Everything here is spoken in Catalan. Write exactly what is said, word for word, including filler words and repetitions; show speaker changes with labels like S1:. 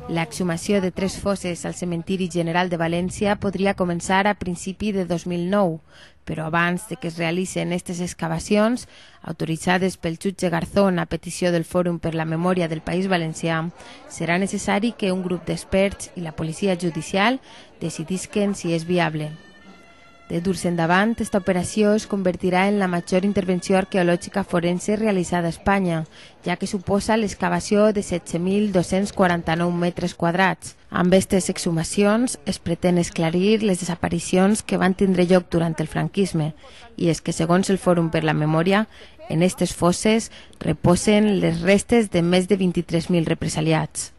S1: L'exhumació de tres fosses al cementiri general de València podria començar a principi de dos mil nou, però abans de que es realicen aquestes excavacions, autoritzades pel jutge Garzón a petició del Fòrum per la Memòria del País Valencià, serà necessari que un grup d'experts i la policia judicial decidisquen si és viable. De dur-se endavant, aquesta operació es convertirà en la major intervenció arqueològica forense realitzada a Espanya, ja que suposa l'excavació de setze mil dos-cents quaranta-nou metres quadrats. Amb aquestes exhumacions es pretén esclarir les desaparicions que van tindre lloc durant el franquisme, i és que, segons el Fòrum per la Memòria, en aquestes fosses reposen les restes de més de vint-i-tres mil represaliats.